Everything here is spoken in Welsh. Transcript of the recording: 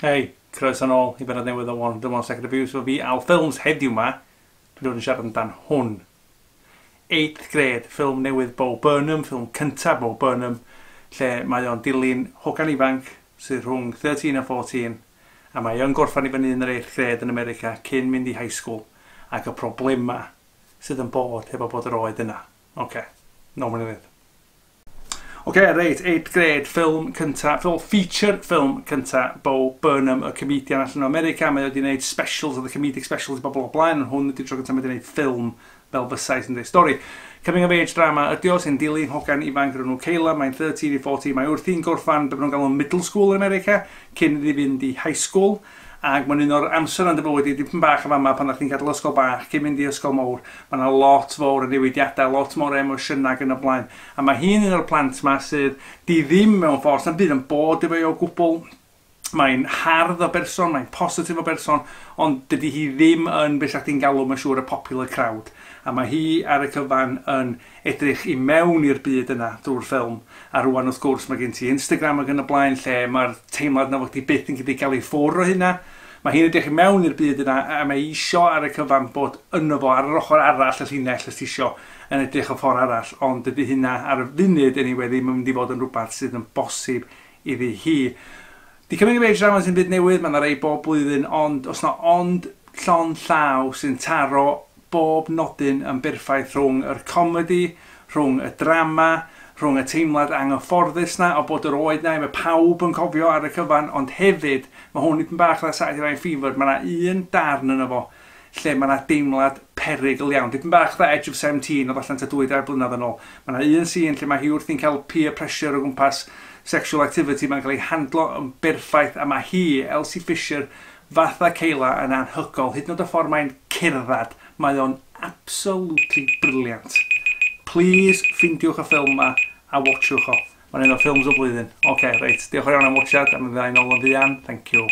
Hei, croeso nôl i benod newydd o 101 Second Reviews efo fi, Al Films. Heddiw ma, dwi'n dod yn siarad amdan hwn. 8th Grade, ffilm newydd Bo Burnham, ffilm cyntaf Bo Burnham, lle mae o'n dilyn hogan ifanc sydd rhwng 13 a 14, a mae o'n gorffan i fyny yn yr 8th grade yn America cyn mynd i high school, ac y problema sydd yn bod hefo bod yr oed yna. Oce, okay. Nôl mewn i. Oce, okay, reit, 8th Grade, ffilm cynta, ffilm feature ffilm cynta Bo Burnham, y comedian allan o America. Mae wedi gwneud specials, oedd y comedic specials i bobl o blaen, ond hwn ydy'r tro cyntaf mae wedi gwneud ffilm fel fysai sy'n dweud stori. Coming of age drama ydy o, sy'n dilyn hogan ifanc o'r enw Kayla, mae'n 13 i 14, mae wrthi'n gorffan be maen nhw'n galw middle school yn America, cyn iddi fynd i high school. Ac mae'n un o'r amser yn dy fywyd i dipyn bach o fama pan ddech chi'n gadael ysgol bach cyn mynd i ysgol mawr. Mae yna lot fawr o newidiadau, lot mor emosiynau ac yn y blaen. A mae hi'n un o'r plant ma sydd di ddim mewn ffordd, sa'n byd yn bod efo i o gwbl. Mae'n hardd o berson, mae'n positif o berson, ond dydy hi ddim yn beth chdi'n galw, mae'n siŵr, y popular crowd. A mae hi ar y cyfan yn edrych i mewn i'r byd yna drwy'r ffilm. A rwan, wrth gwrs, mae gen ti Instagram ac yn y blaen lle mae'r teimlad na fod ti byth yn gallu cael ei ffwrdd o hynna. Mae hi'n edrych i mewn i'r byd yna a mae isio ar y cyfan bod yno fo ar yr ochr arall y llinell, os ti isio, yn edrych o ffordd arall, ond dydy hynna ar y funud anyway ddim yn mynd i fod yn rhywbeth sydd yn bosib iddi hi. Di coming of age drama sy'n byd newydd, mae yna rei bob blwyddyn, ond os na ond llon llaw sy'n taro bob nodyn yn berffaith rhwng yr comedy, rhwng y drama, rhwng y teimlad anghyfforddus na o bod yr oed na, mae pawb yn cofio ar y cyfan, ond hefyd, mae hwn dipyn bach fatha Saturday Night Fever, mae yna un darn yno fo lle mae yna deimlad perygl iawn. Dipyn bach fatha Edge of 17, oedd allan tua 2-3 blynedd yn ôl. Mae yna un scene lle mae hi wrthi'n cael peer pressure o gwmpas sexual activity, mae'n cael ei handlo yn berffaith, a mae hi, Elsie Fisher, fatha Kayla, yn anhygoel. Hyd yn oed y ffordd mae'n cerdded, mae o'n absolutely brilliant. Please, ffindiwch y ffilm ma a watchwch o. Mae'n un o'r ffilms o blwyddyn. Oce, okay, reit. Diolch yn iawn am watchad, a mi fydda i'n ôl yn fuan. Thank you.